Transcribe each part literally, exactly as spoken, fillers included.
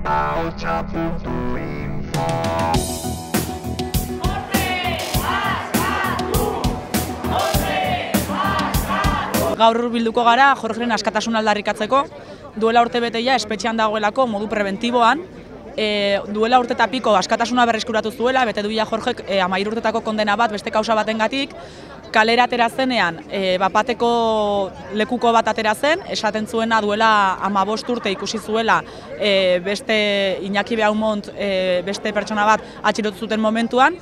ahotsa puntu info. Gaur bilduko gara Jorgeren askatasuna aldarrikatzeko, duela urte beteia espetxean dagoelako modu prebentiboan, e, duela urte eta piko askatasuna berreskuratu zuela, bete duia Jorgek e, amairu urtetako kondena bat beste kausa batengatik, kalera atera zenean, e, bapateko lekuko bat atera zen, esaten zuena duela hamabost urte ikusi zuela e, beste Iñaki Beaumont, e, beste pertsona bat atxilotu zuten momentuan,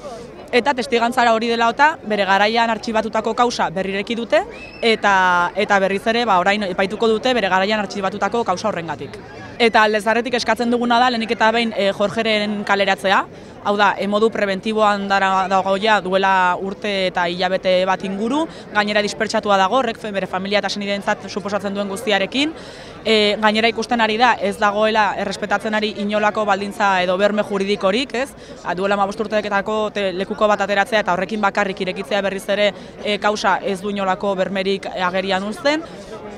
eta testigantzara hori dela eta bere garaian artxibatutako kausa berrireki dute eta eta berriz ere ba, orain epaituko dute bere garaian artxibatutako kausa horrengatik. Eta aldezarretik eskatzen duguna da lehenik eta behin e, Jorgeren kaleratzea, hau da, e, modu prebentiboan dagoia duela urte eta hilabete bat inguru, gainera dispertsatua dago, horrek bere familia eta senidentzat suposatzen duen guztiarekin, e, gainera ikusten ari da ez dagoela errespetatzen ari inolako baldintza edo berme juridikorik, ez? Duela hamabost urteketako lekuko bat ateratzea eta horrekin bakarrik irekitzea berriz ere e, kausa ez du inolako bermerik agerian uzten.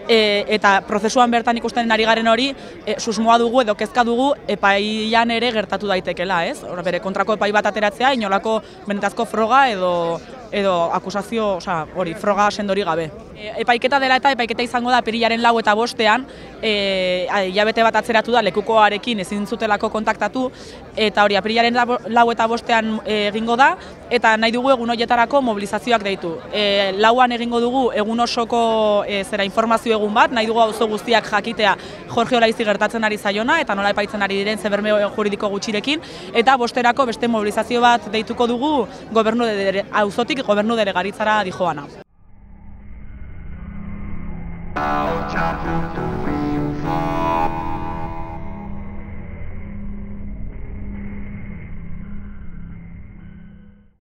E, eta prozesuan bertan ikusten ari garen hori, e, susmoa dugu edo kezka dugu epaian ere gertatu daitekela, ez? Hor, bere kontrako epai bat ateratzea, inolako benetazko froga edo edo akusazio, osea, hori, froga sendori gabe. E, epaiketa dela eta epaiketa izango da apirilaren lau eta bostean, e, hilabete bat atzeratu da lekukoarekin ezin zutelako kontaktatu, eta hori apirilaren lau eta bostean egingo da, eta nahi dugu egun horietarako mobilizazioak deitu. E, lauan egingo dugu egun osoko e, zera informazio egun bat, nahi dugu auzo guztiak jakitea Jorge Olaizi gertatzen ari zaiona, eta nola epaitzen ari diren zeberme juridiko gutxirekin, eta bosterako beste mobilizazio bat deituko dugu gobernu de, auzotik gobernu delegaritzara dijoana.